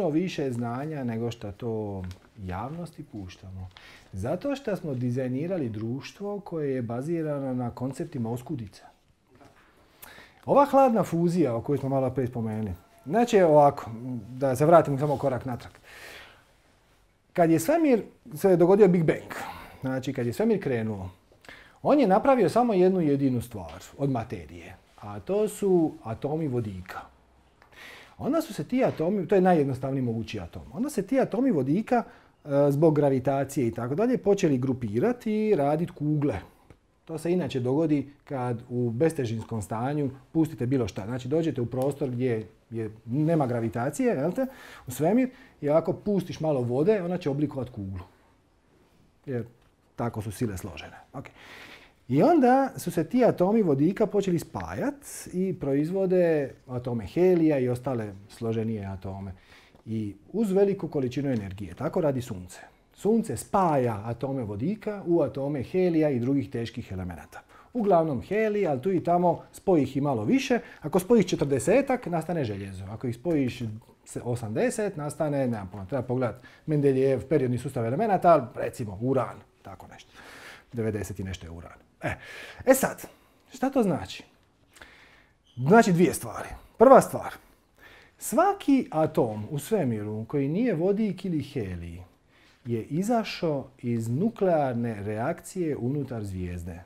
puno više znanja nego što to javnosti puštamo. Zato što smo dizajnirali društvo koje je bazirano na konceptima oskudica. Ova hladna fuzija o kojoj smo malo prije spomenuli, znači ovako, da se vratim samo korak natrag. Kad je svemir se dogodio Big Bang, znači kad je svemir krenuo, on je napravio samo jednu jedinu stvar od materije, a to su atomi vodika. Onda su se ti atomi, to je najjednostavniji mogući atom, onda se ti atomi vodika zbog gravitacije i tako dalje počeli grupirati i raditi kugle. To se inače dogodi kad u bestežinskom stanju pustite bilo šta. Znači dođete u prostor gdje nema gravitacije, jel te, u svemir, i ako pustiš malo vode, ona će oblikovati kuglu. Jer tako su sile složene. Okay. I onda su se ti atomi vodika počeli spajati i proizvode atome helija i ostale složenije atome. I uz veliku količinu energije. Tako radi Sunce. Sunce spaja atome vodika u atome helija i drugih teških elemenata. Uglavnom helij, ali tu i tamo spoji ih i malo više. Ako spojiš 40-ak, nastane željezo. Ako ih spojiš 80, nastane, nemam pojma, treba pogledati Mendeljejev periodni sustav elemenata, recimo uran, tako nešto. 90 i nešto je uran. E sad, šta to znači? Znači dvije stvari. Prva stvar, svaki atom u svemiru koji nije vodik ili helij je izašao iz nuklearne reakcije unutar zvijezde.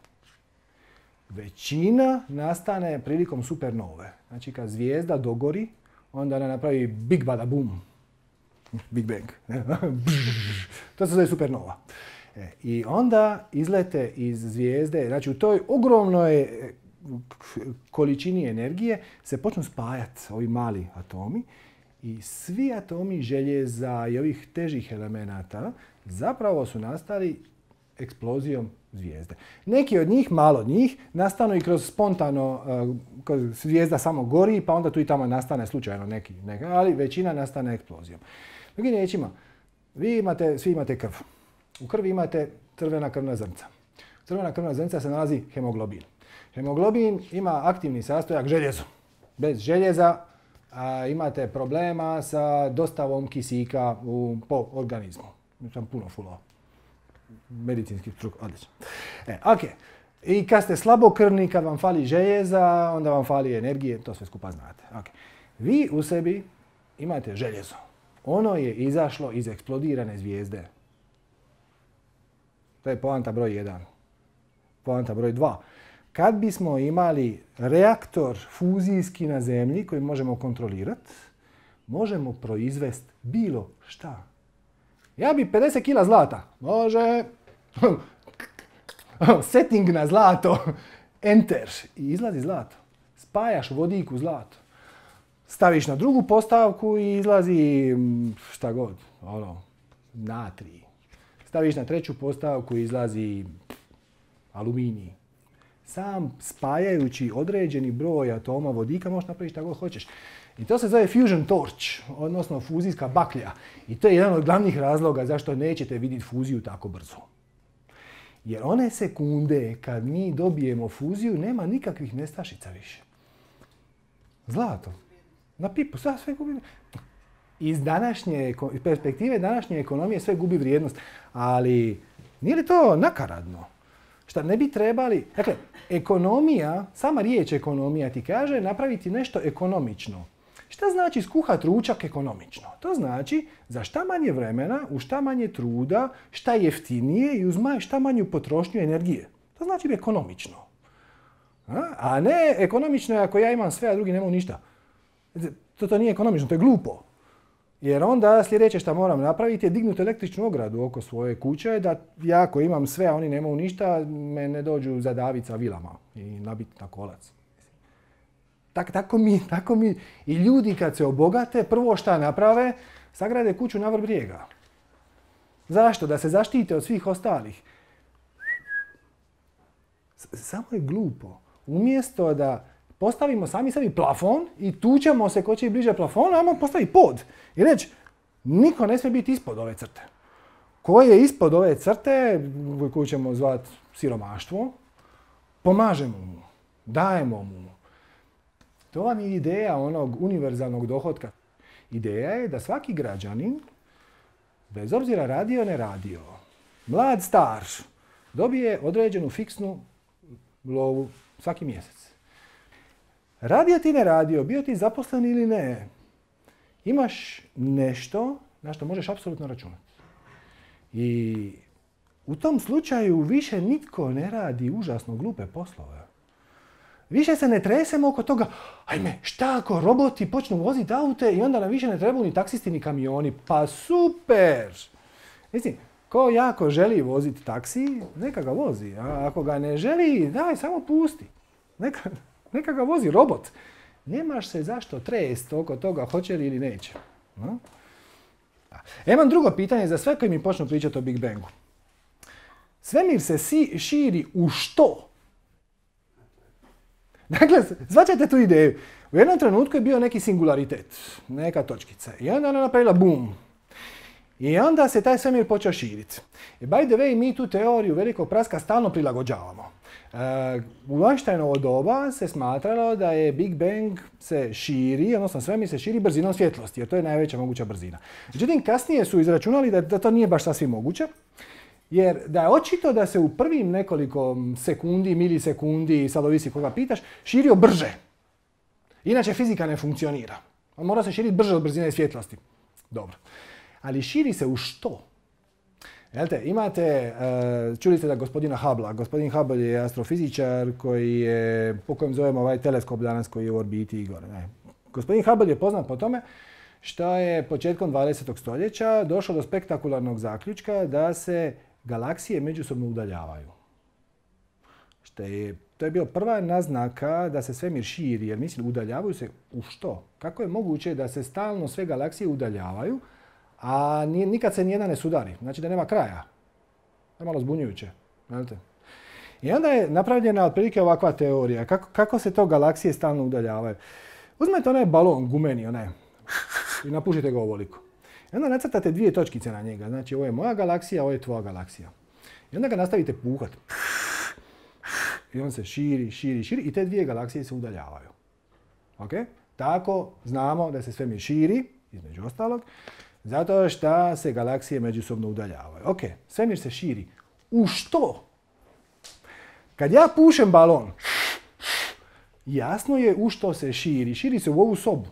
Većina nastane prilikom supernove. Znači kad zvijezda dogori, onda ona napravi big bada boom. Big bang. To se zove supernova. I onda izlete iz zvijezde, znači u toj ogromnoj količini energije se počnu spajati ovi mali atomi i svi atomi željeza i ovih težih elemenata zapravo su nastali eksplozijom zvijezde. Neki od njih, malo od njih, nastanu i kroz spontano, zvijezda samo gori, pa onda tu i tamo nastane slučajno neki, ali većina nastane eksplozijom. Drugim riječima, svi imate krv. U krvi imate crvena krvna zrnca. U crvena krvna zrnca se nalazi hemoglobin. Hemoglobin ima aktivni sastojak željezo. Bez željeza imate problema sa dostavom kisika po organizmu. Sam puno fulao. Medicinski struk, odlično. Ok. I kad ste slabokrvni, kad vam fali željeza, onda vam fali energije, to sve skupa znate. Okay. Vi u sebi imate željezo. Ono je izašlo iz eksplodirane zvijezde. To je poanta broj 1. Poanta broj 2. Kad bismo imali reaktor fuzijski na zemlji koji možemo kontrolirati, možemo proizvesti bilo šta. Ja bi 50 kila zlata. Može. Setting na zlato. Enter. I izlazi zlato. Spajaš vodik u zlato. Staviš na drugu postavku i izlazi šta god. Natrij. Staviš na treću postavku i izlazi aluminij. Sam spajajući određeni broj atoma vodika možeš napraviti šta god hoćeš. I to se zove fusion torch, odnosno fuzijska baklja. I to je jedan od glavnih razloga zašto nećete vidjeti fuziju tako brzo. Jer one sekunde kad mi dobijemo fuziju nema nikakvih nestašica više. Zlato. Na pipu, sve gubi. Iz perspektive današnje ekonomije sve gubi vrijednost. Ali nije li to nakaradno? Šta ne bi trebali... Dakle, ekonomija, sama riječ ekonomija ti kaže napraviti nešto ekonomično. Šta znači skuhati ručak ekonomično? To znači za šta manje vremena, u šta manje truda, šta jeftinije i uz šta manju potrošnju energije. To znači ekonomično. A ne ekonomično je ako ja imam sve, a drugi nemaju ništa. To nije ekonomično, to je glupo. Jer onda sljedeće što moram napraviti je dignuti električnu ogradu oko svoje kuće da ja ako imam sve, a oni nemaju ništa, me ne dođu zadaviti sa vilama i nabiti na kolac. Tako mi i ljudi kad se obogate, prvo šta naprave, sagrade kuću na vrh brijega. Zašto? Da se zaštite od svih ostalih. Samo je glupo. Umjesto da postavimo sami sebi plafon i tučemo se ko će i bliže plafonu, ajmo postaviti pod. I reći, niko ne smije biti ispod ove crte. Ko je ispod ove crte, koju ćemo zvati siromaštvo, pomažemo mu, dajemo mu. To vam je ideja onog univerzalnog dohotka. Ideja je da svaki građanin, bez obzira radio ne radio, mlad, star, dobije određenu fiksnu lovu svaki mjesec. Radio ti ne radio, bio ti zaposlen ili ne, imaš nešto na što možeš apsolutno računati. I u tom slučaju više nitko ne radi užasno glupe poslove. Više se ne tresemo oko toga, ajme, šta ako roboti počnu voziti aute i onda nam više ne trebaju ni taksisti ni kamioni. Pa super! Mislim, ko jako želi voziti taksi, neka ga vozi. A ako ga ne želi, daj, samo pusti. Neka ga vozi robot. Nemaš se zašto trest oko toga, hoće li ili neće. No? Imam drugo pitanje za sve koji mi počnu pričati o Big Bangu. Svemir se širi u što? Dakle, shvaćate tu ideju. U jednom trenutku je bio neki singularitet, neka točkica. I onda ona napravila bum. I onda se taj svemir počeo širiti. I by the way, mi tu teoriju velikog praska stalno prilagođavamo. U Einsteinovo doba se smatralo da je Big Bang se širi, odnosno svemir se širi brzinom svjetlosti, jer to je najveća moguća brzina. Međutim, kasnije su izračunali da to nije baš sasvim moguće, jer da je očito da se u prvim nekoliko sekundi, milisekundi, sad ovisi koga pitaš, širio brže. Inače fizika ne funkcionira. On mora se širiti brže od brzine svjetlosti. Dobro. Ali širi se u što? Jelte, imate, čuli ste da gospodina Hubbla. Gospodin Hubble je astrofizičar koji je, po kojem zovemo ovaj teleskop danas koji je u orbiti Igor. Gospodin Hubble je poznat po tome što je početkom 20. stoljeća došlo do spektakularnog zaključka da se galaksije međusobno udaljavaju. To je bio prva naznaka da se svemir širi, jer mislim udaljavaju se u što? Kako je moguće da se stalno sve galaksije udaljavaju, a nikad se nijedna ne sudari? Znači da nema kraja. To je malo zbunjujuće. Znate? I onda je napravljena otprilike ovakva teorija. Kako se to galaksije stalno udaljavaju? Uzmete onaj balon gumeni, onaj, i napušite ga ovoliko. I onda nacrtate dvije točkice na njega. Znači, ovo je moja galaksija, ovo je tvoja galaksija. I onda ga nastavite puhat. I on se širi, širi, širi i te dvije galaksije se udaljavaju. Ok? Tako znamo da se svemir širi, između ostalog, zato što se galaksije međusobno udaljavaju. Ok, svemir se širi. U što? Kad ja pušem balon, jasno je u što se širi. Širi se u ovu sobu.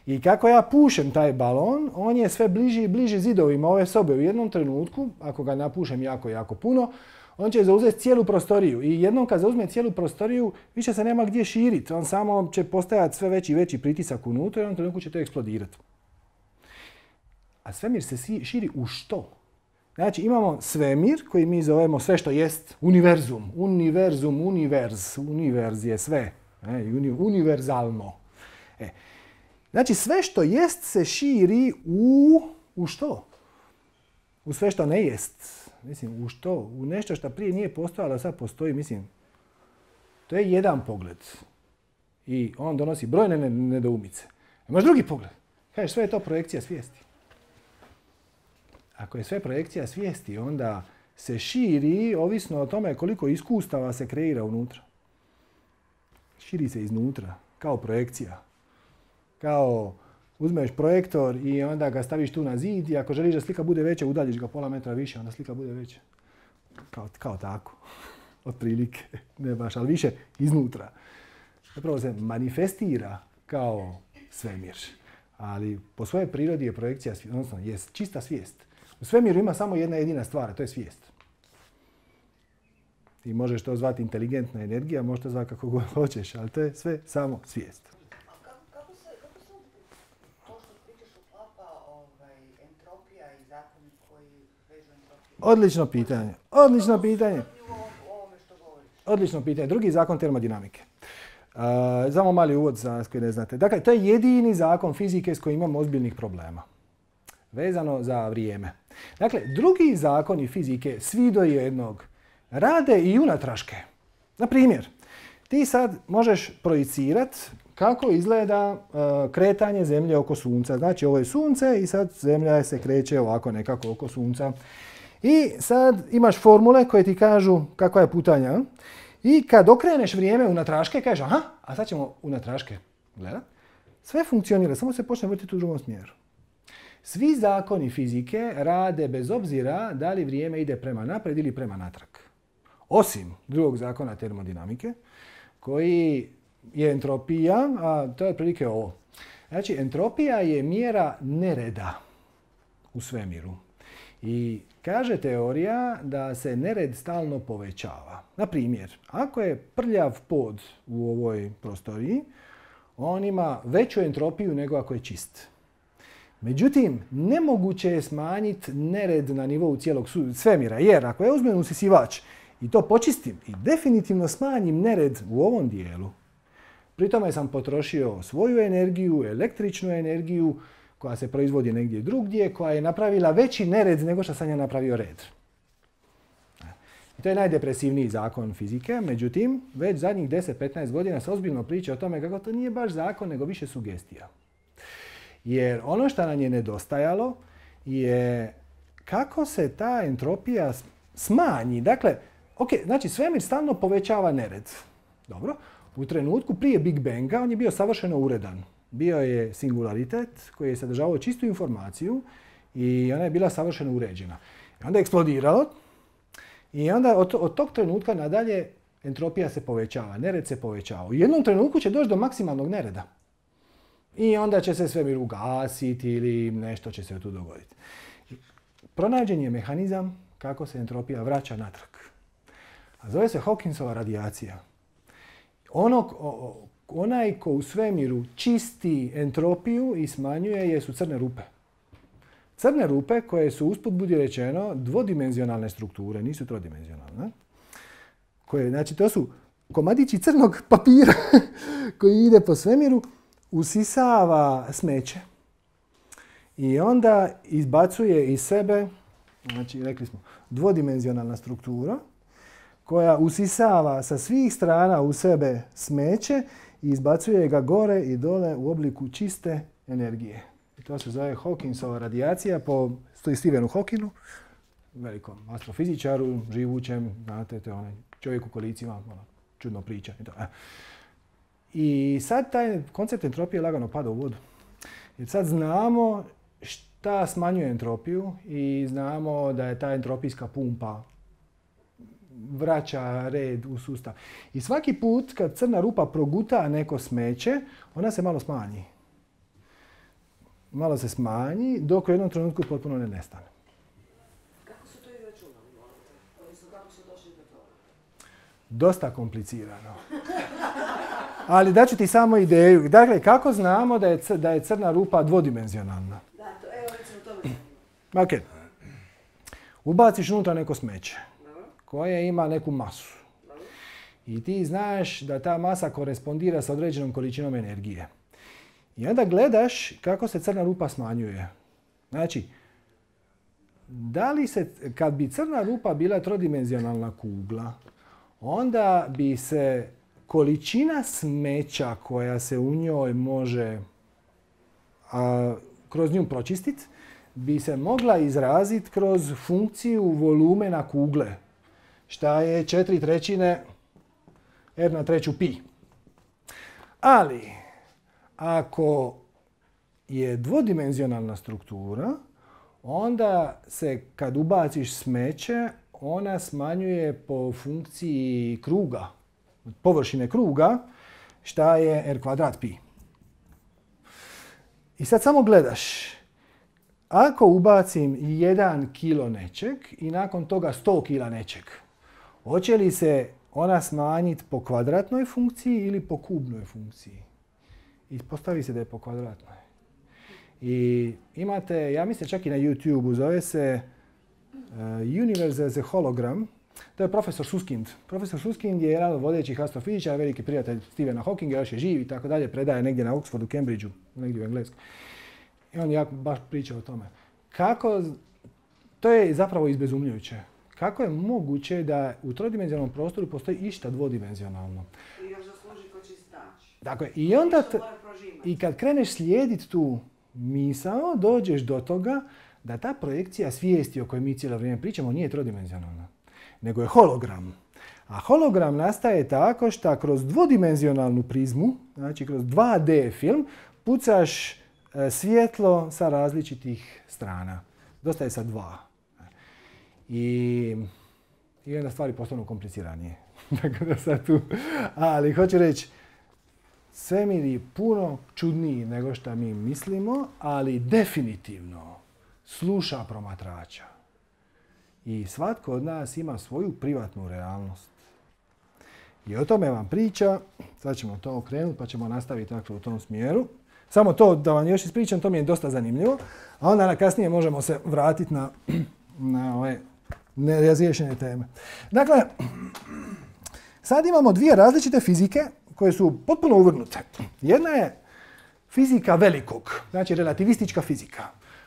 I kako ja pušem taj balon, on je sve bliži i bliži zidovima ove sobe. U jednom trenutku, ako ga napušem jako, jako puno, on će zauzeti cijelu prostoriju. I jednom kad zauzme cijelu prostoriju, više se nema gdje širiti. On samo će postajati sve veći i veći pritisak unutra i u jednom trenutku će to eksplodirati. A svemir se širi u što? Znači imamo svemir koji mi zovemo sve što jest univerzum. Univerzum, univerz je sve. Univerzalno. Znači sve što jest se širi u što? U sve što ne jest. Mislim, u što? U nešto što prije nije postojalo, a sad postoji. Mislim, to je jedan pogled. I on donosi brojne nedoumice. Imaš drugi pogled. Kažeš, sve je to projekcija svijesti. Ako je sve projekcija svijesti, onda se širi ovisno o tome koliko iskustava se kreira unutra. Širi se iznutra, kao projekcija. Kao uzmeš projektor i onda ga staviš tu na zid i ako želiš da slika bude veća, udaljiš ga pola metra više, onda slika bude veća. Kao tako. Otprilike. Ne baš, ali više iznutra. Zapravo se manifestira kao svemir. Ali po svojoj prirodi je projekcija, odnosno je čista svijest. U svemiru ima samo jedna jedina stvar, a to je svijest. Ti možeš to zvati inteligentna energija, možeš to zvati kako god hoćeš, ali to je sve samo svijest. Kako se to što pričaš uklapa entropija i zakoni koji vežu entropiju? Odlično pitanje. Odlično pitanje. Drugi zakon termodinamike. Samo mali uvod za koji ne znate. Dakle, to je jedini zakon fizike s kojim imamo ozbiljnih problema. Vezano za vrijeme. Dakle, drugi zakoni fizike, svi do jednog, rade i unatraške. Na primjer, ti sad možeš projicirati kako izgleda kretanje Zemlje oko Sunca. Znači, ovo je Sunce i sad Zemlja se kreće ovako nekako oko Sunca. I sad imaš formule koje ti kažu kakva je putanja. I kad okreneš vrijeme unatraške, kažeš aha, a sad ćemo unatraške gledati. Sve funkcionira, samo se počne vrtiti u drugom smjeru. Svi zakoni fizike rade bez obzira da li vrijeme ide prema naprijed ili prema natrag. Osim drugog zakona termodinamike, koji je entropija, a to je otprilike ovo. Znači, entropija je mjera nereda u svemiru. I kaže teorija da se nered stalno povećava. Na primjer, ako je prljav pod u ovoj prostoriji, on ima veću entropiju nego ako je čist. Međutim, nemoguće je smanjiti nered na nivou cijelog svemira, jer ako ja uzmem usisivač i to počistim i definitivno smanjim nered u ovom dijelu, pri tome sam potrošio svoju energiju, električnu energiju, koja se proizvodi negdje drugdje, koja je napravila veći nered nego što sam ja napravio red. I to je najdepresivniji zakon fizike, međutim, već zadnjih 10-15 godina se ozbiljno priča o tome kako to nije baš zakon, nego više sugestija. Jer ono što nam je nedostajalo je kako se ta entropija smanji. Dakle, znači svemir stalno povećava nered. Dobro. U trenutku prije Big Banga on je bio savršeno uredan. Bio je singularitet koji je sadržavao čistu informaciju i ona je bila savršeno uređena. I onda je eksplodiralo i onda od tog trenutka nadalje entropija se povećava, nered se povećava. U jednom trenutku će doći do maksimalnog nereda. I onda će se svemir ugasiti ili nešto će se tu dogoditi. Pronađen je mehanizam kako se entropija vraća natrag. A zove se Hawkinsova radijacija. Onaj ko u svemiru čisti entropiju i smanjuje je su crne rupe. Crne rupe koje su, usput budi rečeno, dvodimenzionalne strukture, nisu trodimenzionalne. Znači, to su komadići crnog papira koji ide po svemiru, usisava smeće i onda izbacuje iz sebe, znači rekli smo, dvodimenzionalna struktura koja usisava sa svih strana u sebe smeće i izbacuje ga gore i dole u obliku čiste energije. I to se zove Hawkinsova radijacija po Stephenu Hawkingu, velikom astrofizičaru, živućem, znate, to je onaj čovjek u kolicima, čudno priča. I sad taj koncept entropije lagano pada u vodu. Jer sad znamo šta smanjuje entropiju i znamo da je ta entropijska pumpa vraća red u sustav. I svaki put kad crna rupa proguta neko smeće, ona se malo smanji. Malo se smanji dok u jednom trenutku potpuno ne nestane. Kako su to izračunali? Odnosno, kako su došli do toga? Dosta komplicirano. Ali daću ti samo ideju. Dakle, kako znamo da je crna rupa dvodimenzionalna? Da, to, evo recimo tome. Ok. Ubaciš unutra neko smeće koje ima neku masu. I ti znaš da ta masa korespondira sa određenom količinom energije. I onda gledaš kako se crna rupa smanjuje. Znači, kad bi crna rupa bila trodimenzionalna kugla, onda bi se količina smeća koja se u njoj može kroz nju pročistiti, bi se mogla izraziti kroz funkciju volumena kugle, šta je 4/3 r na treću pi. Ali, ako je dvodimenzionalna struktura, onda se kad ubaciš smeće, ona smanjuje po funkciji kruga, površine kruga, šta je r kvadrat pi. I sad samo gledaš, ako ubacim 1 kilo nečeg i nakon toga 100 kila nečeg, hoće li se ona smanjiti po kvadratnoj funkciji ili po kubnoj funkciji? I postavi se da je po kvadratnoj. I imate, ja mislim čak i na YouTube-u, zove se Universe as a Hologram. To je profesor Susskind. Profesor Susskind je jedan od vodećih astrofizičara, veliki prijatelj Stephena Hawkinga, još je živ i tako dalje, predaje negdje na Oxfordu, Cambridgeu, negdje u Englesku. I on jako baš priča o tome. To je zapravo izbezumljujuće. Kako je moguće da u trodimenzionalnom prostoru postoji išta dvodimenzionalno? I još zasluži ko čistač. Dakle, i onda i kad kreneš slijediti tu misao, dođeš do toga da ta projekcija svijesti o kojoj mi cijelo vrijeme pričamo nije trodimenzionalna, nego je hologram. A hologram nastaje tako što kroz dvodimenzionalnu prizmu, znači kroz 2D film, pucaš svjetlo sa različitih strana. Dosta je sa dva. I onda stvari postanu kompliciranije. Tako da sad tu... Ali hoću reći, svemir je puno čudniji nego što mi mislimo, ali definitivno sluša promatrača. I svatko od nas ima svoju privatnu realnost. I o tome vam priča, sad ćemo to okrenuti pa ćemo nastaviti tako u tom smjeru. Samo to da vam još ispričam, to mi je dosta zanimljivo, a onda na kasnije možemo se vratiti na ove nerazriješene teme. Dakle, sad imamo dvije različite fizike koje su potpuno uvrnute. Jedna je fizika velikog, znači relativistička fizika,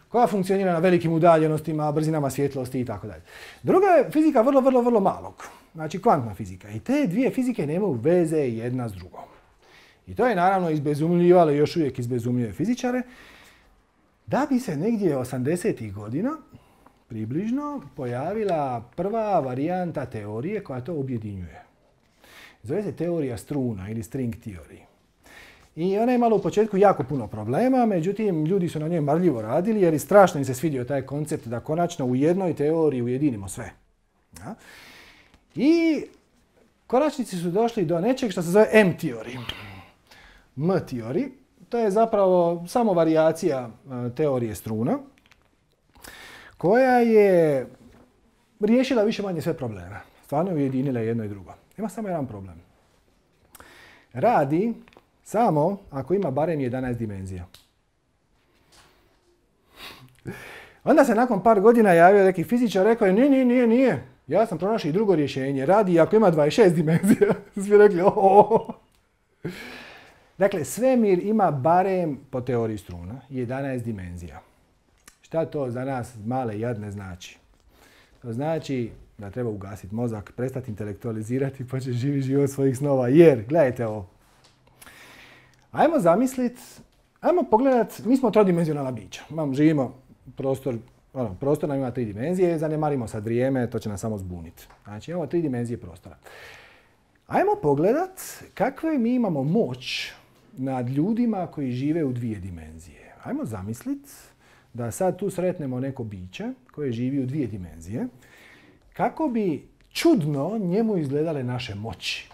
koja funkcionira na velikim udaljenostima, brzinama svjetlosti i tako dalje. Druga je fizika vrlo malog, znači kvantna fizika. I te dvije fizike nemaju veze jedna s drugom. I to je naravno izbezumljivalo, još uvijek izbezumljuje fizičare, da bi se negdje 80-ih godina približno pojavila prva varijanta teorije koja to objedinjuje. Zove se teorija struna ili string theory. I ona je imala u početku jako puno problema, međutim ljudi su na njoj marljivo radili jer i strašno im se svidio taj koncept da konačno u jednoj teoriji ujedinimo sve. Ja? I konačnici su došli do nečeg što se zove M-teorij. M-teorij, to je zapravo samo varijacija teorije struna, koja je riješila više manje sve probleme. Stvarno je ujedinila jedno i drugo. Ima samo jedan problem. Radi samo ako ima barem 11 dimenzija. Onda se nakon par godina javio neki fizičar, rekao je nije. Ja sam pronašao i drugo rješenje. Radi ako ima 26 dimenzija. Svi rekli Dakle, svemir ima barem po teoriji struna 11 dimenzija. Šta to za nas male jadne znači? To znači da treba ugasiti mozak, prestati intelektualizirati i početi živjeti život svojih snova. Jer, gledajte ovo. Ajmo zamisliti, ajmo pogledati, mi smo trodimenzionalna bića. Živimo prostor nam ima 3 dimenzije, zanemarimo sad vrijeme, to će nas samo zbuniti. Znači imamo 3 dimenzije prostora. Ajmo pogledati kakve mi imamo moć nad ljudima koji žive u 2 dimenzije. Ajmo zamisliti da sad tu sretnemo neko biće koje živi u 2 dimenzije. Kako bi čudno njemu izgledale naše moći.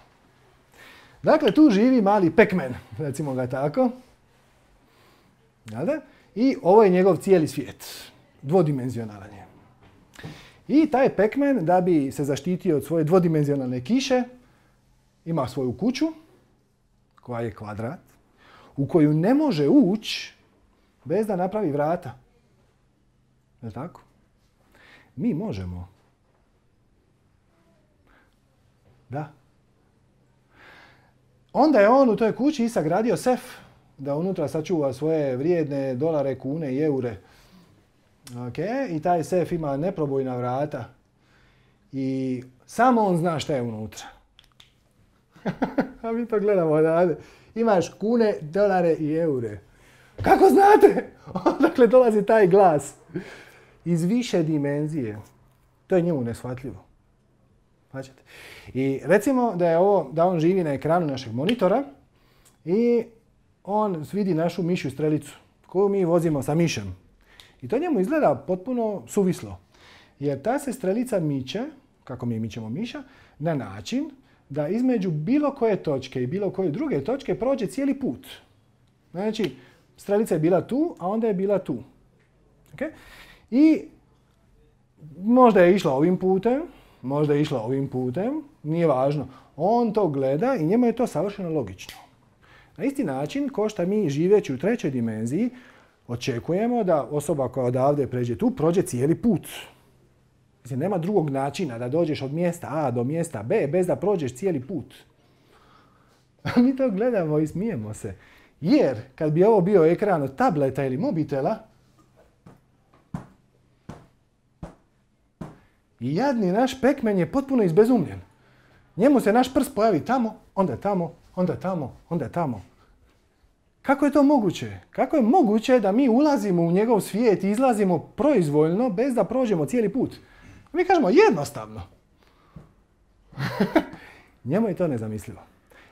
Dakle, tu živi mali Pac-Man, recimo ga tako. I ovo je njegov cijeli svijet. Dvodimenzionalan je. I taj Pac-Man, da bi se zaštitio od svoje dvodimenzionalne kiše, ima svoju kuću, koja je kvadrat, u koju ne može ući bez da napravi vrata. Je li tako? Mi možemo. Da. Onda je on u toj kući sagradio sef da unutra sačuva svoje vrijedne dolare, kune i eure. Okay. I taj sef ima neprobojna vrata i samo on zna šta je unutra. A mi to gledamo odavde. Imaš kune, dolare i eure. Kako znate? Odakle dolazi taj glas? Iz više dimenzije. To je njemu neshvatljivo. Značite? I recimo da on živi na ekranu našeg monitora i on vidi našu mišju strelicu koju mi vozimo sa mišem. I to njemu izgleda potpuno suvislo. Jer ta se strelica miče, kako mi mičemo miša, na način da između bilo koje točke i bilo koje druge točke prođe cijeli put. Znači, strelica je bila tu, a onda je bila tu. Okay? I možda je išla ovim putem, možda je išla ovim putem, nije važno. On to gleda i njemu je to savršeno logično. Na isti način, ko što mi živeći u 3. dimenziji, očekujemo da osoba koja odavde pređe tu, prođe cijeli put. Mislim, nema drugog načina da dođeš od mjesta A do mjesta B bez da prođeš cijeli put. A mi to gledamo i smijemo se. Jer kad bi ovo bio ekran od tableta ili mobitela, i jadni naš Pac-Man je potpuno izbezumljen. Njemu se naš prst pojavi tamo, onda tamo, onda tamo, onda tamo. Kako je to moguće? Kako je moguće da mi ulazimo u njegov svijet i izlazimo proizvoljno bez da prođemo cijeli put? Mi kažemo jednostavno. Njemu je to nezamislivo.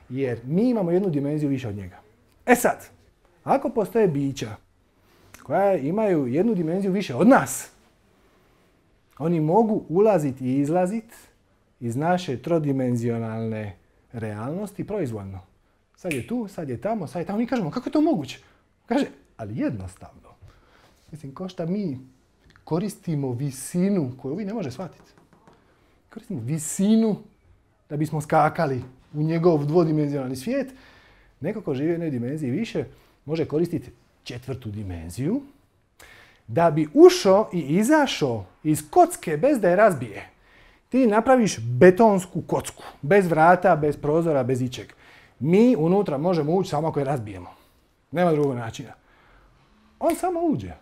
Jer mi imamo jednu dimenziju više od njega. E sad, Ako postoje bića koja imaju jednu dimenziju više od nas, oni mogu ulaziti i izlaziti iz naše trodimenzionalne realnosti proizvoljno. Sad je tu, sad je tamo, sad je tamo. Mi kažemo, kako je to moguće? Kaže, ali jednostavno. Mislim, ko šta mi koristimo visinu koju vi ne može shvatiti. Koristimo visinu da bismo skakali u njegov dvodimenzionalni svijet. Neko ko živi u jednoj dimenziji više može koristiti 4. dimenziju da bi ušao i izašao iz kocke bez da je razbije. Ti napraviš betonsku kocku, bez vrata, bez prozora, bez ičeg. Mi unutra možemo ući samo ako je razbijemo. Nema drugog načina. On samo uđe.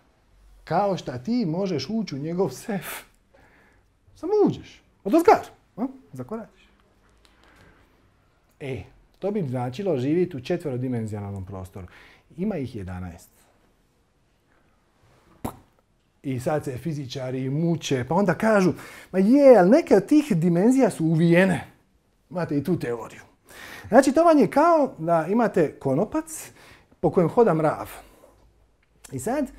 Kao što ti možeš ući u njegov sef. Samo uđeš. Odozgar. Zakoračiš. To bi značilo živjeti u 4-dimenzionalnom prostoru. Ima ih 11. I sad se fizičari muče, pa onda kažu, ma je, ali neke od tih dimenzija su uvijene. Imate i tu teoriju. Znači, to vam je kao da imate konopac po kojem hoda mrav. I sad,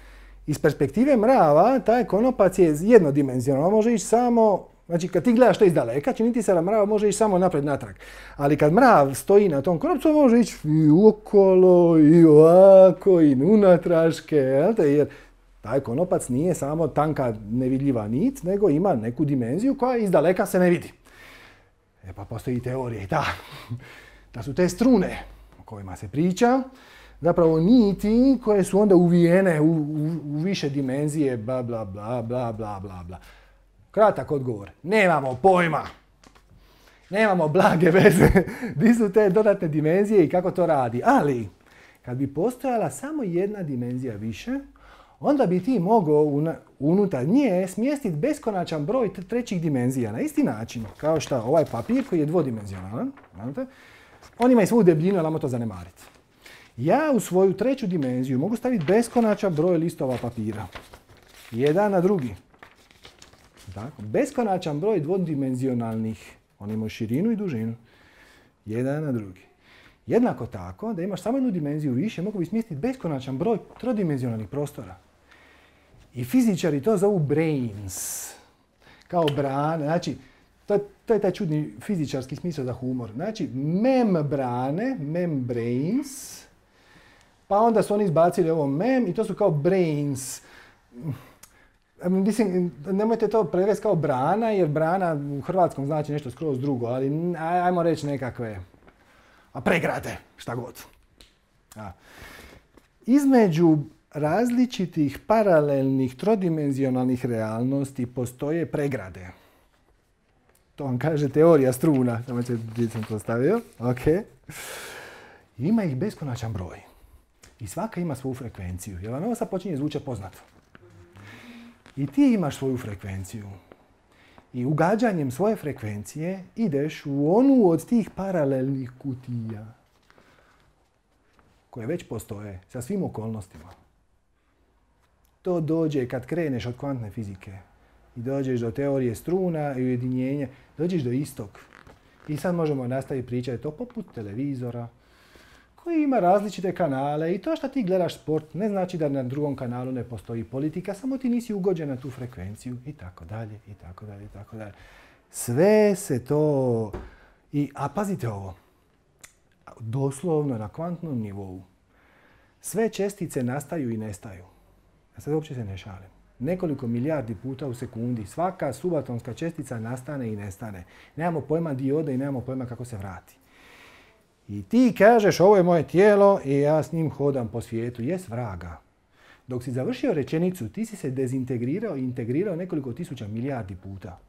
iz perspektive mrava, taj konopac je jednodimenzionalan. Može ići samo, znači kad ti gledaš to iz daleka, čini ti se da mrav može ići samo napred natrag. Ali kad mrav stoji na tom konopcu, može ići i okolo, i ovako, i unatraške, jer taj konopac nije samo tanka nevidljiva nit, nego ima neku dimenziju koja iz daleka se ne vidi. Pa postoji teorija i da su te strune o kojima se priča, zapravo niti koje su onda uvijene u više dimenzije, bla, bla, bla, bla, bla, bla, bla. Kratak odgovor. Nemamo pojma. Nemamo blage veze di su te dodatne dimenzije i kako to radi. Ali, kad bi postojala samo jedna dimenzija više, onda bi ti mogao unutar nje smjestiti beskonačan broj trećih dimenzija. Na isti način, kao što ovaj papir koji je dvodimenzionalan, on ima i svu debljinu, ali ajmo to zanemariti. Ja u svoju 3. dimenziju mogu staviti beskonačan broj listova papira. Jedan na drugi. Tako. Beskonačan broj dvodimenzionalnih. Oni imaju širinu i dužinu. Jedan na drugi. Jednako tako, da imaš samo jednu dimenziju više, mogu bi smjestiti beskonačan broj trodimenzionalnih prostora. I fizičari to zovu brains. Kao brane. Znači, to je taj čudni fizičarski smisao za humor. Znači, membrane, membranes, pa onda su oni izbacili ovo mem i to su kao brains. Mislim, nemojte to prevesti kao brana, jer brana u hrvatskom znači nešto skroz drugo, ali ajmo reći nekakve pregrade, šta god. Između različitih paralelnih trodimenzionalnih realnosti postoje pregrade. To vam kaže teorija struna. Samo gdje sam to stavio. Ok. Ima ih beskonačan broj. I svaka ima svoju frekvenciju. Jer vam ovo sad počinje zvučati poznato. I ti imaš svoju frekvenciju. I ugađanjem svoje frekvencije ideš u onu od tih paralelnih kutija koje već postoje sa svim okolnostima. To dođe kad kreneš od kvantne fizike i dođeš do teorije struna i ujedinjenja, dođeš do istog. I sad možemo nastaviti pričati to poput televizora koji ima različite kanale i to što ti gledaš sport ne znači da na drugom kanalu ne postoji politika, samo ti nisi ugođen na tu frekvenciju i tako dalje, i tako dalje, i tako dalje. Sve se to... A pazite ovo, doslovno na kvantnom nivou. Sve čestice nastaju i nestaju. Ja sad uopće se ne šalim. Nekoliko milijardi puta u sekundi. Svaka subatomska čestica nastane i nestane. Nemamo pojma di ode i nemamo pojma kako se vrati. I ti kažeš ovo je moje tijelo i ja s njim hodam po svijetu. Jes vraga. Dok si završio rečenicu, ti si se dezintegrirao i integrirao nekoliko tisuća milijardi puta.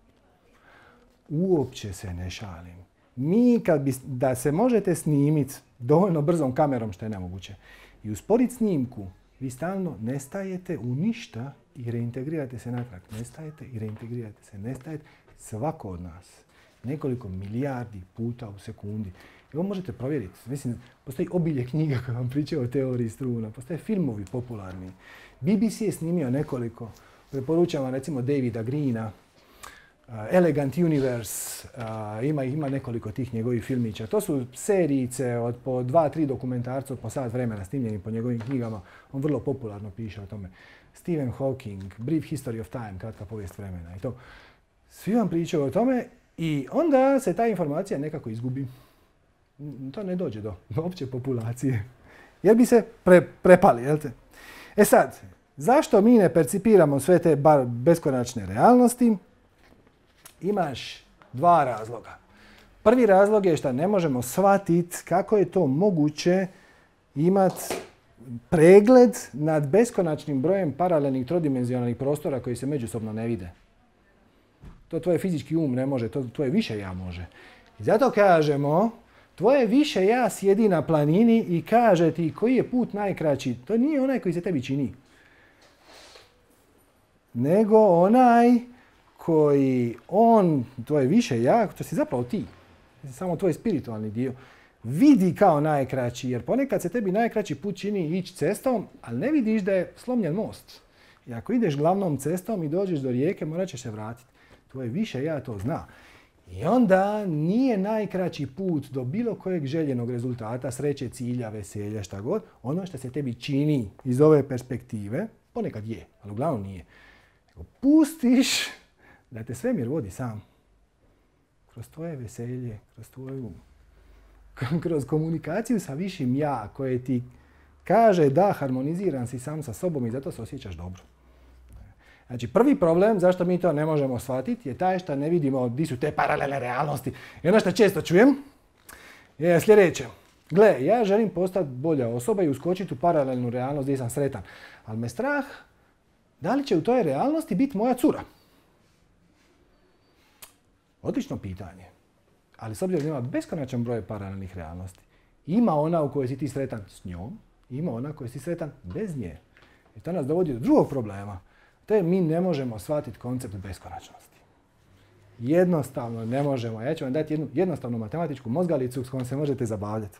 Uopće se ne šalim. Mi da se možete snimiti dovoljno brzom kamerom, što je nemoguće, i usporiti snimku, vi stalno nestajete u ništa i reintegrirate se natrag. Nestajete i reintegrirate se. Nestajete svako od nas. Nekoliko milijardi puta u sekundi. I ovo možete provjeriti. Mislim, postoji obilje knjiga koje vam pričaju o teoriji struna. Postoje filmovi popularni. BBC je snimio nekoliko. Preporučam vam recimo Davida Greena. Elegant Universe, ima nekoliko tih njegovih filmića. To su serijice od po 2-3 dokumentarca po sat vremena snimljeni po njegovim knjigama. On vrlo popularno piše o tome. Stephen Hawking, Brief History of Time, kratka povijest vremena i to. Svi vam pričaju o tome i onda se ta informacija nekako izgubi. To ne dođe do opće populacije. Jer bi se prepali, jel te? E sad, zašto mi ne percipiramo sve te beskonačne realnosti? Imaš dva razloga. Prvi razlog je što ne možemo shvatiti kako je to moguće imati pregled nad beskonačnim brojem paralelnih trodimenzionalnih prostora koji se međusobno ne vide. To tvoj fizički um ne može, to tvoje više ja može. I zato kažemo, tvoje više ja sjedi na planini i kaže ti koji je put najkraći. To nije onaj koji se tebi čini. Nego onaj koji tvoje više ja, to si zapravo ti. Samo tvoj spiritualni dio. Vidi kao najkraći, jer ponekad se tebi najkraći put čini ići cestom, ali ne vidiš da je slomljen most. I ako ideš glavnom cestom i dođeš do rijeke, morat ćeš se vratiti. Tvoje više ja to zna. I onda nije najkraći put do bilo kojeg željenog rezultata, sreće, cilja, veselja, šta god, ono što se tebi čini iz ove perspektive, ponekad je, ali uglavnom nije. Nego pustiš da te svemir vodi sam. Kroz tvoje veselje, kroz tvoj um. Kroz komunikaciju sa višim ja koje ti kaže da harmoniziran si sam sa sobom i zato se osjećaš dobro. Znači, prvi problem zašto mi to ne možemo shvatiti je taj što ne vidimo di su te paralelne realnosti. I ono što često čujem je sljedeće. Gle, ja želim postati bolja osoba i uskočiti u paralelnu realnost gdje sam sretan. Ali me strah da li će u toj realnosti biti moja cura. Odlično pitanje. Ali s obzirom da ima beskonačan broj paralelnih realnosti. Ima ona u kojoj si ti sretan s njom, ima ona u kojoj si sretan bez nje. I to nas dovodi do drugog problema. To je mi ne možemo shvatiti koncept beskonačnosti. Jednostavno ne možemo. Ja ću vam dati jednu jednostavnu matematičku mozgalicu s kojom se možete zabavljati.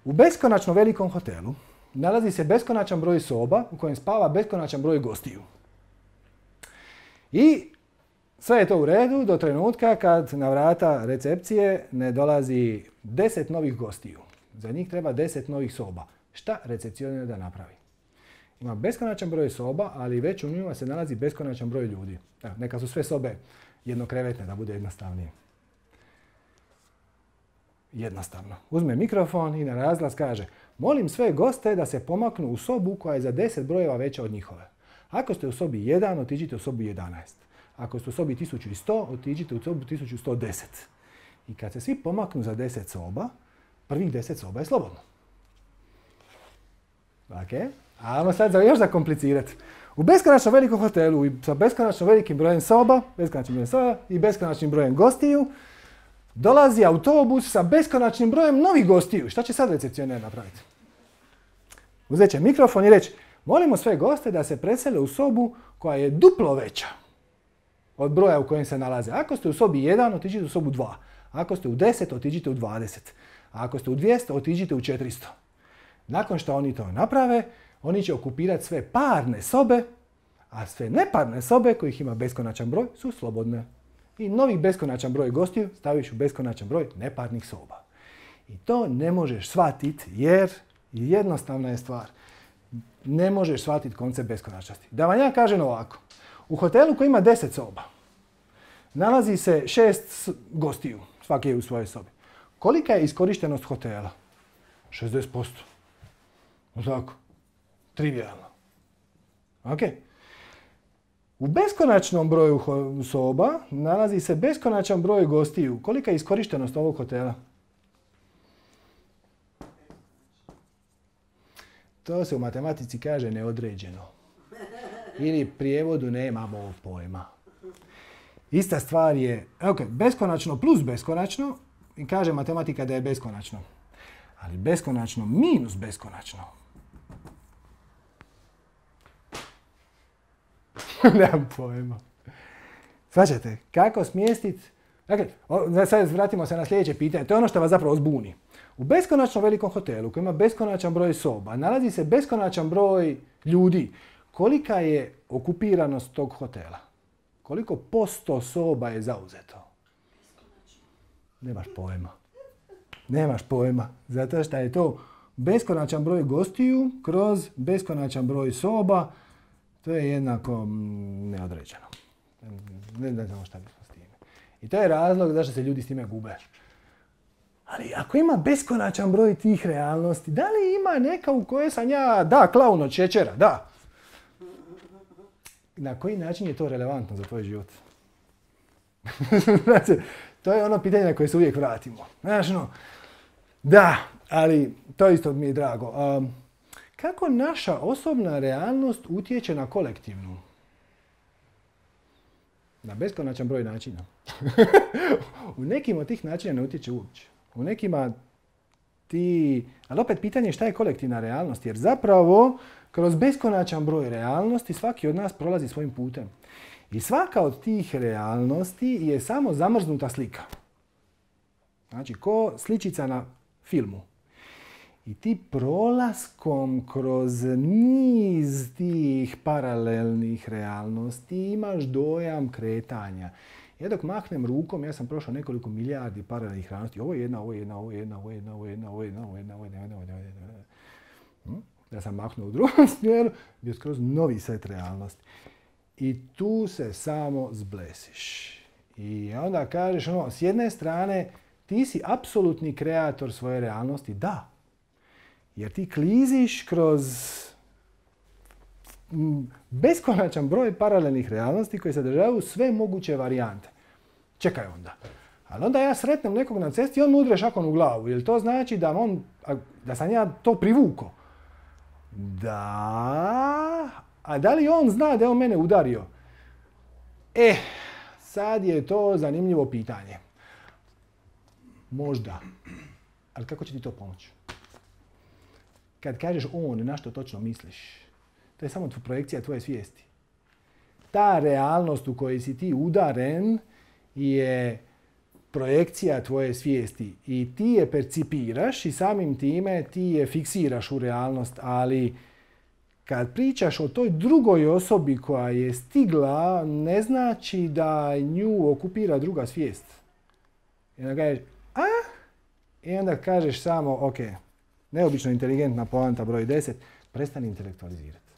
U beskonačno velikom hotelu nalazi se beskonačan broj soba u kojem spava beskonačan broj gostiju. I sve je to u redu do trenutka kad na vrata recepcije ne dolazi 10 novih gostiju. Za njih treba 10 novih soba. Šta recepcionar da napravi? Ima beskonačan broj soba, ali već u njima se nalazi beskonačan broj ljudi. Neka su sve sobe jednokrevetne, da bude jednostavnije. Jednostavno. Uzme mikrofon i na razglas kaže: molim sve goste da se pomaknu u sobu koja je za 10 brojeva veća od njihove. Ako ste u sobi 1, otiđite u sobu 11. Ako ste u sobi 1100, otiđite u sobu 1110. I kad se svi pomaknu za 10 soba, prvih 10 soba je slobodno. Ok? Ajmo sad još zakomplicirati. U beskonačno velikom hotelu sa beskonačno velikim brojem soba, i beskonačnim brojem gostiju, dolazi autobus sa beskonačnim brojem novih gostiju. Šta će sad recepcioner napraviti? Uzet će mikrofon i reći: molimo sve goste da se presele u sobu koja je duplo veća od broja u kojem se nalaze. Ako ste u sobi 1, otiđite u sobu 2. Ako ste u 10, otiđite u 20. A ako ste u 200, otiđite u 400. Nakon što oni to naprave, oni će okupirati sve parne sobe, a sve neparne sobe, kojih ima beskonačan broj, su slobodne. I novi beskonačan broj gostiju staviš u beskonačan broj neparnih soba. I to ne možeš shvatiti jer jednostavna je stvar. Ne možeš shvatiti koncept beskonačnosti. Da vam ja kažem ovako. U hotelu koji ima 10 soba nalazi se 6 gostiju, svaki je u svojoj sobi. Kolika je iskorištenost hotela? 60%. Tako. Trivialno. Ok. U beskonačnom broju soba nalazi se beskonačan broj gostiju. Kolika je iskorištenost ovog hotela? To se u matematici kaže neodređeno. Ili prijevodu nemamo pojma. Ista stvar je, beskonačno plus beskonačno, i kaže matematika da je beskonačno. Ali beskonačno minus beskonačno. Nemam pojma. Svaćate, kako smjestiti? Dakle, sad vratimo se na sljedeće pitanje. To je ono što vas zapravo zbuni. U beskonačno velikom hotelu koji ima beskonačan broj soba nalazi se beskonačan broj ljudi. Kolika je okupiranost tog hotela? Koliko posto soba je zauzeto? Nemaš pojma. Nemaš pojma. Zato što je to beskonačan broj gostiju kroz beskonačan broj soba. To je jednako neodređeno. Ne znamo šta bismo s time. I to je razlog zašto se ljudi s time gube. Ali ako ima beskonačan broj tih realnosti, da li ima neka u kojoj sam ja, da, klaun od šećera, da. Na koji način je to relevantno za tvoj život? Znači, to je ono pitanje na koje se uvijek vratimo. Znaš, no, da, ali to isto mi je drago. Kako naša osobna realnost utječe na kolektivnu? Na beskonačan broj načina. U nekim od tih načina ne utječe uopće. U nekima ali opet pitanje je šta je kolektivna realnost, jer zapravo kroz beskonačan broj realnosti svaki od nas prolazi svojim putem. I svaka od tih realnosti je samo zamrznuta slika. Znači, ko sličica na filmu. I ti prolaskom kroz niz tih paralelnih realnosti imaš dojam kretanja. Ja dok mahnem rukom, ja sam prošao nekoliko milijardi paralelnih realnosti. Ovo je jedna, ovo je jedna, ovo je jedna, ovo je jedna, ovo je jedna, ovo je jedna, ovo je jedna, ovo je jedna, ovo je jedna. Ja sam mahnuo u drugom smjeru, gdje je skroz novi set realnosti. I tu se samo zblesiš. I onda kažeš, s jedne strane, ti si apsolutni kreator svoje realnosti. Da. Jer ti kliziš kroz beskonačan broj paralelnih realnosti koje sadržavaju sve moguće varijante. Čekaj onda. Ali onda ja sretnem nekog na cesti i on mu udre šakom u glavu. Jer to znači da sam ja to privukao? Da. A da li on zna da je on mene udario? Sad je to zanimljivo pitanje. Možda. Ali kako će ti to pomoći? Kad kažeš on, na što točno misliš? To je samo projekcija tvoje svijesti. Ta realnost u kojoj si ti udaren je projekcija tvoje svijesti. I ti je percipiraš i samim time ti je fiksiraš u realnost. Ali kad pričaš o toj drugoj osobi koja je stigla, ne znači da nju okupira druga svijest. I onda kažeš, I onda kažeš samo, ok, neobično inteligentna poanta broj 10, prestani intelektualizirati.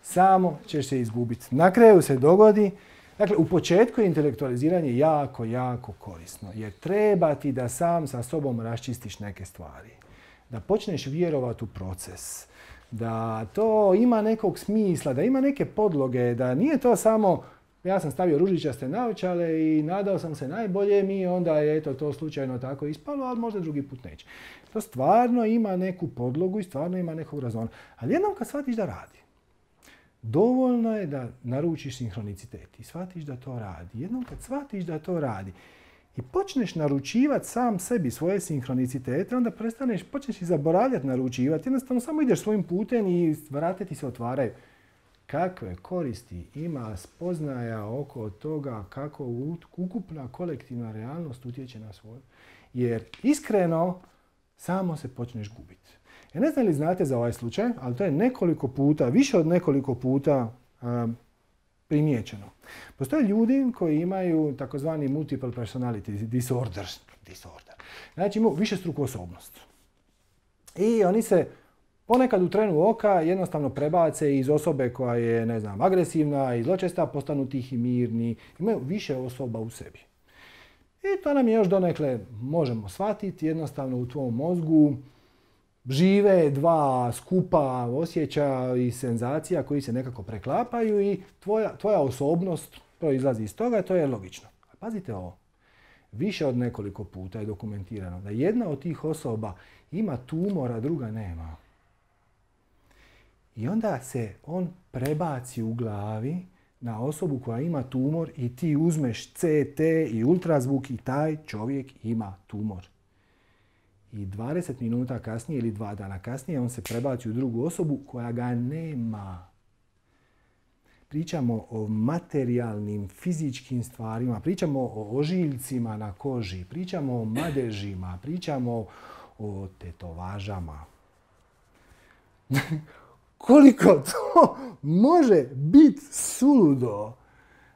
Samo ćeš se izgubiti. Na kraju se dogodi, dakle, u početku je intelektualiziranje jako, jako korisno, jer treba ti da sam sa sobom raščistiš neke stvari. Da počneš vjerovati u proces, da to ima nekog smisla, da ima neke podloge, da nije to samo ja sam stavio ružičaste naočale i nadao sam se najboljem i onda je to slučajno tako ispalo, ali možda drugi put neće. To stvarno ima neku podlogu i stvarno ima nekog razona. Ali jednom kad shvatiš da radi, dovoljno je da naručiš sinhronicitet i shvatiš da to radi. Jednom kad shvatiš da to radi i počneš naručivati sam sebi svoje sinhronicitete, onda počneš i zaboravljati naručivati. Jednostavno samo ideš svojim putem i vrata ti se otvaraju. Kakve koristi ima spoznaja oko toga kako ukupna kolektivna realnost utječe na svoju. Jer iskreno samo se počneš gubiti. Ja ne znam li znate za ovaj slučaj, ali to je nekoliko puta, više od nekoliko puta primijećeno. Postoje ljudi koji imaju takozvani multiple personality disorder. Znači imaju višestruku osobnost. I oni se ponekad u trenu oka jednostavno prebace iz osobe koja je, agresivna i zločesta, postanu tihi, mirni. Imaju više osoba u sebi. I to nam je još donekle možemo shvatiti. Jednostavno u tvom mozgu žive dva skupa osjećaja i senzacija koji se nekako preklapaju i tvoja osobnost proizlazi iz toga, to je logično. A pazite ovo. Više od nekoliko puta je dokumentirano da jedna od tih osoba ima tumor, a druga nema. I onda se on prebaci u glavi na osobu koja ima tumor i ti uzmeš CT i ultrazvuk i taj čovjek ima tumor. I 20 minuta kasnije ili 2 dana kasnije on se prebaci u drugu osobu koja ga nema. Pričamo o materijalnim, fizičkim stvarima, pričamo o ožiljcima na koži, pričamo o madežima, pričamo o tetovažama. koliko to može biti suludo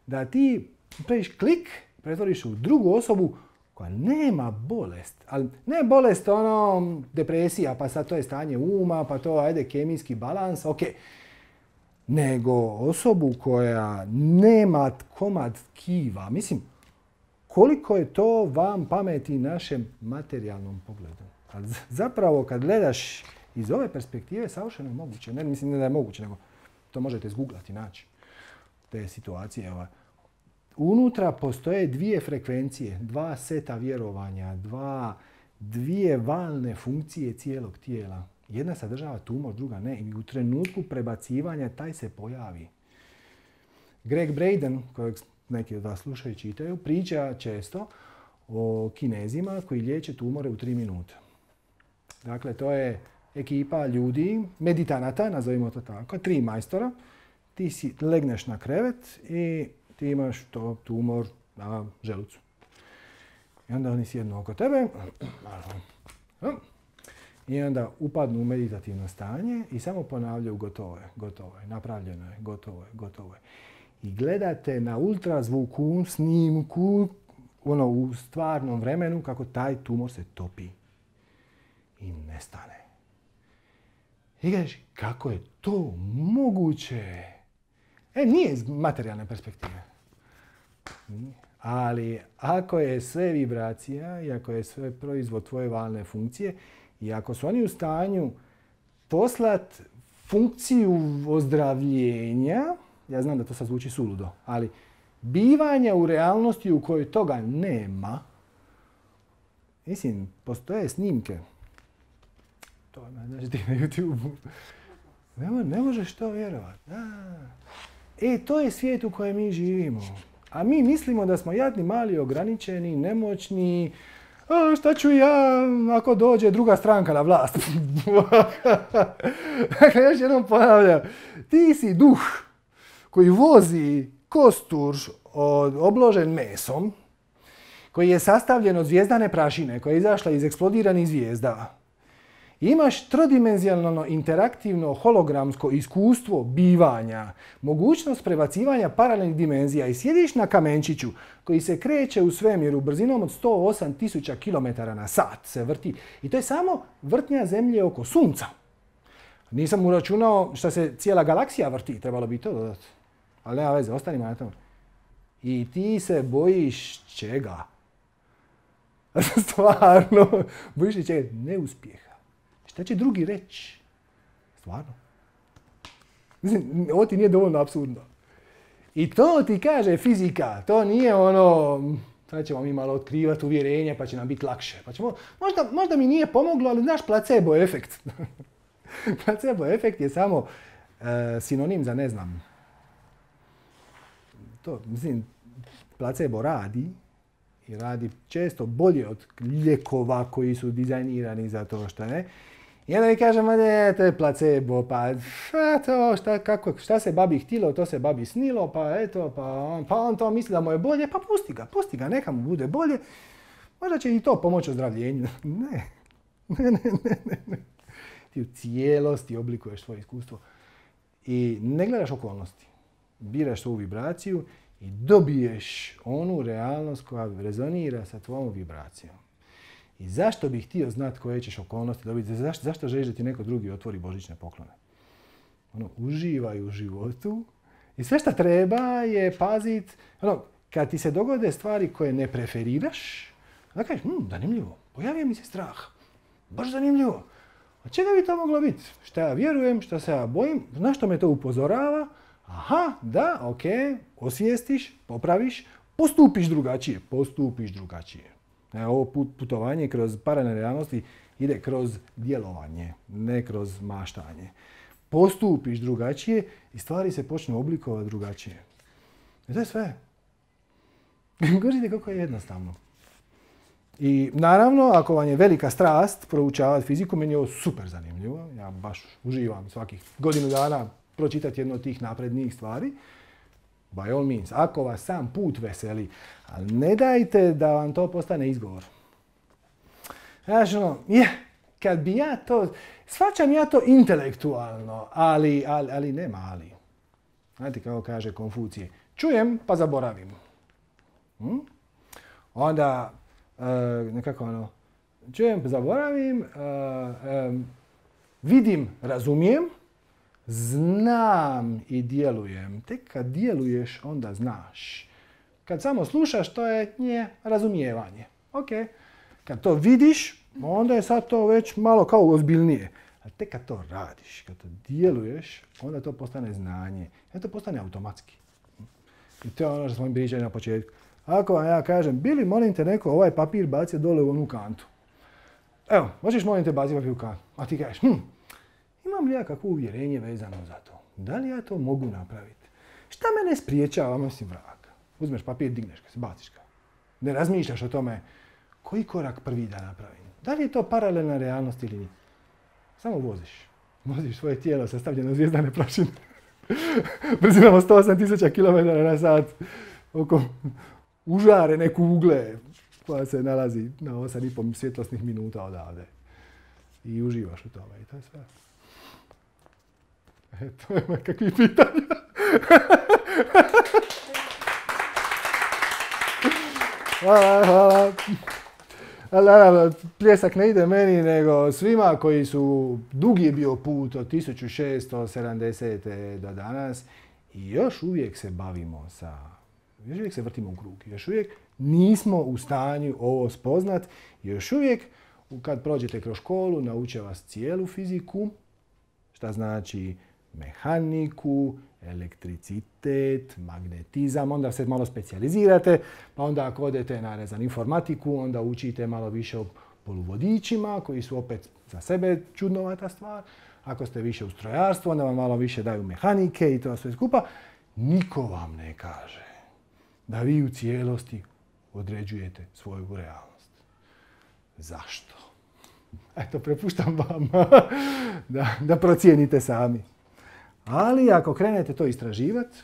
da ti praviš klik, pretvoriš u drugu osobu koja nema bolest. Ali ne bolest ono depresija, pa sad to je stanje uma, pa to ajde kemijski balans, ok. Nego osobu koja nema komad tkiva. Mislim, koliko je to vam pameti našem materijalnom pogledu. Ali zapravo kad gledaš iz ove perspektive, savršeno je moguće. Ne mislim ne da je moguće, nego to možete zguglati, naći te situacije. Unutra postoje dvije frekvencije, dva seta vjerovanja, dvije valne funkcije cijelog tijela. Jedna sadržava tumor, druga ne. I u trenutku prebacivanja taj se pojavi. Greg Braden, kojeg neki od vas slušaju i čitaju, priča često o Kinezima koji liječe tumore u 3 minute. Dakle, to je ekipa ljudi, meditanata, nazovimo to tako, 3 majstora. Ti si legneš na krevet i ti imaš to tumor na želucu. I onda oni sjednu oko tebe i onda upadnu u meditativno stanje i samo ponavljaju gotovo je, napravljeno je, gotovo je. I gledate na ultrazvuku, snimku, u stvarnom vremenu kako taj tumor se topi i nestane. I kažeš, kako je to moguće? Nije iz materijalne perspektive. Ali ako je sve vibracija i ako je sve proizvod tvoje valne funkcije i ako su oni u stanju poslati funkciju ozdravljenja, ja znam da to sad zvuči suludo, ali bivanja u realnosti u kojoj toga nema, mislim, postoje snimke. To znači ti na YouTube-u. Ne možeš to vjerovati. To je svijet u kojem mi živimo. A mi mislimo da smo jadni, mali, ograničeni, nemoćni. Šta ću ja ako dođe druga stranka na vlast? Dakle, još jednom ponavljam. Ti si duh koji vozi kostur obložen mesom, koji je sastavljen od zvijezdane prašine, koja je izašla iz eksplodiranih zvijezda. Imaš trodimenzionalno, interaktivno, hologramsko iskustvo bivanja, mogućnost prebacivanja paralelnih dimenzija i sjediš na kamenčiću koji se kreće u svemiru brzinom od 108.000 km na sat se vrti. I to je samo vrtnja Zemlje oko Sunca. Nisam uračunao što se cijela galaksija vrti, trebalo bi to dodati. Ali nema veze, ostanimo na tome. I ti se bojiš čega? Stvarno, bojiš se čega? Neuspjeha. Šta će drugi reći? Stvarno. Mislim, ovo ti nije dovoljno apsurdno. I to ti kaže fizika. To nije ono, sad ćemo mi malo otkrivati uvjerenje pa će nam biti lakše. Pa ćemo, možda mi nije pomoglo, ali znaš placebo efekt. Placebo efekt je samo sinonim za ne znam. To, mislim, placebo radi i radi često bolje od lijekova koji su dizajnirani za to što ne. I onda mi kažem, to je placebo, pa to, šta se babi htilo, to se babi snilo, pa eto, pa on to misli da mu je bolje, pa pusti ga, neka mu bude bolje. Možda će i to pomoći ozdravljenju. Ne. Ti u cijelosti oblikuješ svoje iskustvo i ne gledaš okolnosti. Biraš svoju vibraciju i dobiješ onu realnost koja rezonira sa tvojom vibracijom. I zašto bih htio znati koje ćeš okolnosti dobiti? Zašto želiš da ti neko drugi otvori božićne poklone? Uživaj u životu i sve što treba je paziti. Kad ti se dogode stvari koje ne preferiraš, onda kažeš, zanimljivo, pojavio mi se strah. Baš zanimljivo. A čega bi to moglo biti? Šta ja vjerujem, šta se ja bojim, na što me to upozorava? Aha, da, ok, osvijestiš, popraviš, postupiš drugačije. Ovo putovanje kroz paralelne realnosti ide kroz djelovanje, ne kroz maštanje. Postupiš drugačije i stvari se počnu oblikovati drugačije. I to je sve. Govorite kako je jednostavno. I naravno, ako vam je velika strast proučavati fiziku, meni je ovo super zanimljivo. Ja baš uživam svakih godinu dana pročitati jednu od tih naprednijih stvari. By all means, ako vas sam put veseli, ali ne dajte da vam to postane izgovor. Znaš, kad bi ja to, shvaćam ja to intelektualno, ali nema ali. Znate kako kaže Konfucije, čujem pa zaboravim. Onda, nekako ono, čujem pa zaboravim, vidim, razumijem, znam i djelujem. Tek kad djeluješ, onda znaš. Kad samo slušaš, to je razumijevanje. Ok. Kad to vidiš, onda je sad to već malo kao ozbiljnije. A tek kad to radiš, kad to djeluješ, onda to postane znanje. Onda to postane automatski. I to je ono što smo im pričali na početku. Ako vam ja kažem, Bili, molim te neko ovaj papir bacio dole u onu kantu. Evo, možeš molim te baciti papir u kantu. A ti kažeš, imam li ja kakvo uvjerenje vezano za to? Da li ja to mogu napraviti? Šta mene spriječava, mislim vrag? Uzmeš papir, digneš ga, baciš ga. Ne razmišljaš o tome koji korak prvi da napravim. Da li je to paralelna realnost ili nije? Samo voziš. Voziš svoje tijelo sastavljeno od zvijezdane prašine. Brzinamo 108.000 km/h oko užarene kugle koja se nalazi na 8,5 svjetlosnih minuta odavde. I uživaš u tome. I to je sve. To je kakvi pitanja. Hvala. Ali naravno, pljesak ne ide meni, nego svima koji su, dugi je bio put od 1670. do danas i još uvijek se bavimo još uvijek se vrtimo u krug, još uvijek nismo u stanju ovo spoznat, još uvijek kad prođete kroz školu nauče vas cijelu fiziku, šta znači mehaniku, elektricitet, magnetizam, onda se malo specijalizirate, pa onda ako odete na informatiku, onda učite malo više o poluvodičima, koji su opet za sebe čudnovata stvar. Ako ste više u strojarstvu, onda vam malo više daju mehanike i to sve skupa. Niko vam ne kaže da vi u cijelosti određujete svoju realnost. Zašto? Eto, prepuštam vam da procijenite sami. Ali ako krenete to istraživati,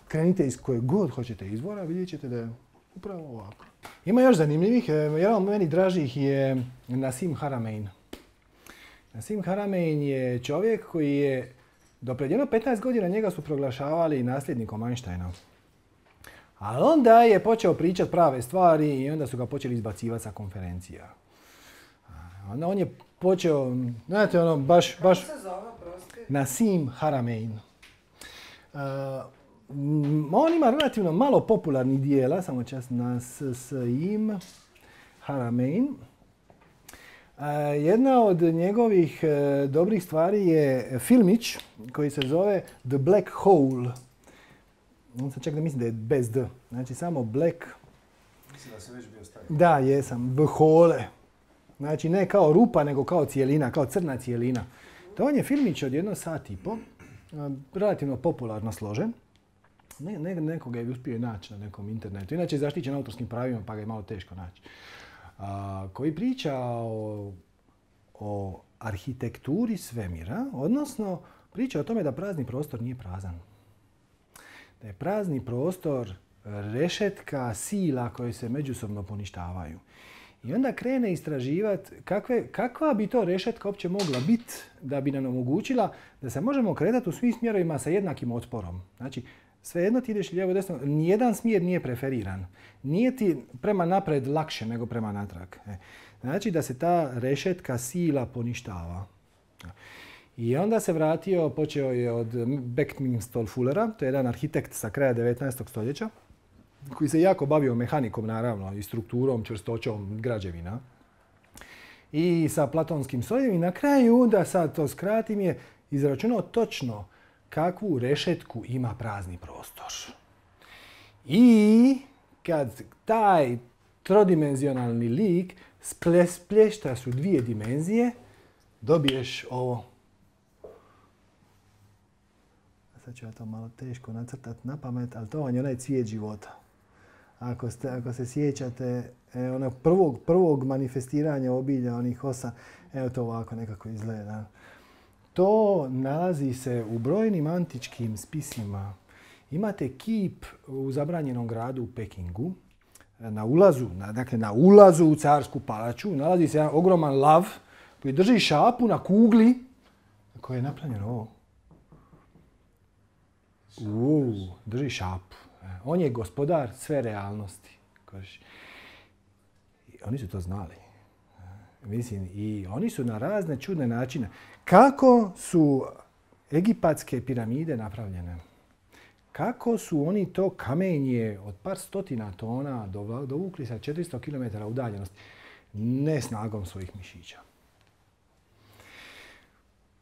krenite iz kojeg god hoćete izvora, vidjet ćete da je upravo ovako. Ima još zanimljivih. Jedan od meni dražih je Nassim Haramein. Nassim Haramein je čovjek koji je do pred jedno 15 godina njega su proglašavali nasljednikom Einsteina. Ali onda je počeo pričati prave stvari i onda su ga počeli izbacivati sa konferencija. Onda on je počeo, znate ono, baš... Kako se zove, prosti? Nassim Haramein. On ima relativno malo popularnih dijela, samo čas Nassim Haramein. Jedna od njegovih dobrih stvari je filmić koji se zove The Black Hole. On sam čak da mislim da je bez D. Znači samo Black... Mislim da sam već bio stavio. Da, jesam. Hole. Znači ne kao rupa, nego kao cijelina, kao crna cijelina. To on je filmić od 1,5 sata, relativno popularno složen. Nekoga je uspio naći na nekom internetu. Inače je zaštićen autorskim pravima, pa ga je malo teško naći. Koji priča o arhitekturi svemira, odnosno priča o tome da prazni prostor nije prazan. Da je prazni prostor rešetka sila koje se međusobno poništavaju. I onda krene istraživati kakva bi to rešetka uopće mogla biti da bi nam omogućila da se možemo kretati u svim smjerovima sa jednakim otporom. Znači, svejedno ti ideš lijevo desno, nijedan smjer nije preferiran. Nije ti prema napred lakše nego prema natrag. Znači da se ta rešetka sila poništava. I onda se vratio, počeo je od Beckminster Fullera, to je jedan arhitekt sa kraja 19. stoljeća, koji se jako bavio mehanikom, naravno, i strukturom, čvrstoćom građevina. I sa platonskim strojevima. I na kraju, da sad to skratim, je izračunao točno kakvu rešetku ima prazni prostor. I kad taj trodimenzionalni lik splješta su dvije dimenzije, dobiješ ovo. Sad ću ja to malo teško nacrtati na pamet, ali to vam je onaj cvijet života. Ako se sjećate onog prvog manifestiranja obilja, onih 8, evo to ovako nekako izgleda. To nalazi se u brojnim antičkim spisima. Imate kip u zabranjenom gradu u Pekingu, na ulazu u carsku palaču, nalazi se jedan ogroman lav koji drži šapu na kugli koja je napravljena ovo. Drži šapu. On je gospodar sve realnosti. Oni su to znali. Mislim, i oni su na razne čudne načine. Kako su egipatske piramide napravljene? Kako su oni to kamenje od par stotina tona dovukli sa 400 km udaljenosti? Ne snagom svojih mišića.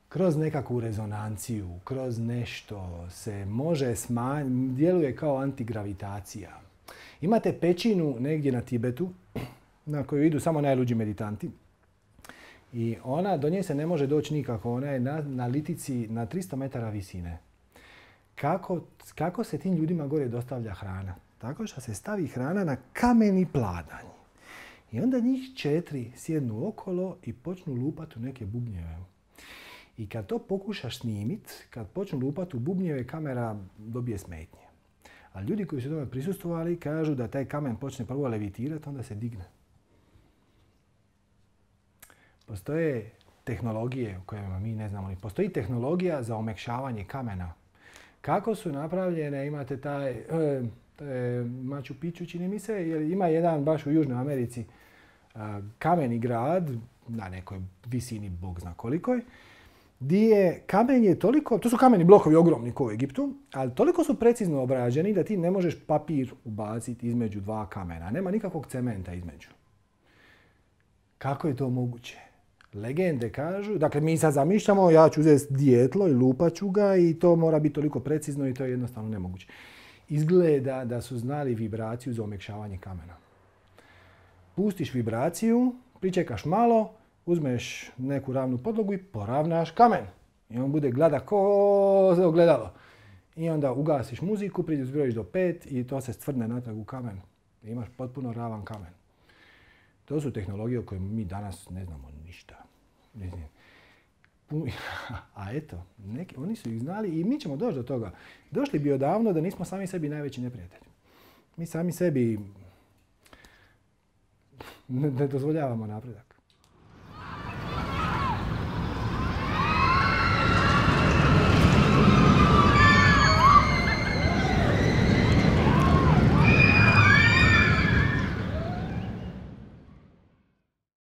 Kroz nekakvu rezonanciju, kroz nešto se može smanjiti, djeluje kao antigravitacija. Imate pećinu negdje na Tibetu, na koju idu samo najluđi meditanti. I do nje se ne može doći nikako. Ona je na litici na 300 metara visine. Kako se tim ljudima gore dostavlja hrana? Tako što se stavi hrana na kameni pladanj. I onda njih 4 sjednu okolo i počnu lupati u neke bubnjeve. I kad to pokušaš snimit, kad počnu lupati u bubnjeve, kamera dobije smetnje. A ljudi koji su tome prisustvovali kažu da taj kamen počne prvo levitirati, onda se digne. Postoje tehnologije o kojima mi ne znamo. Postoji tehnologija za omekšavanje kamena. Kako su napravljene, imate taj Machu Picchu, čini mi se, jer ima jedan baš u Južnoj Americi kameni grad, na nekoj visini, Bog zna kolikoj, gdje kamen je toliko, to su kameni blokovi ogromni kao u Egiptu, ali toliko su precizno obrađeni da ti ne možeš papir ubaciti između dva kamena. Nema nikakvog cementa između. Kako je to moguće? Legende kažu, dakle mi sad zamišljamo, ja ću uzeti dijetlo i lupat ću ga i to mora biti toliko precizno i to je jednostavno nemoguće. Izgleda da su znali vibraciju za omekšavanje kamena. Pustiš vibraciju, pričekaš malo, uzmeš neku ravnu podlogu i poravnaš kamen. I on bude gladak ko ogledalo. I onda ugasiš muziku, zbrojiš do 5 i to se stvrdne natrag u kamen. I imaš potpuno ravan kamen. To su tehnologije o kojima mi danas ne znamo ništa. A eto, oni su ih znali i mi ćemo doći do toga. Došli bi odavno da nismo sami sebi najveći neprijatelji. Mi sami sebi ne dozvoljavamo napredak.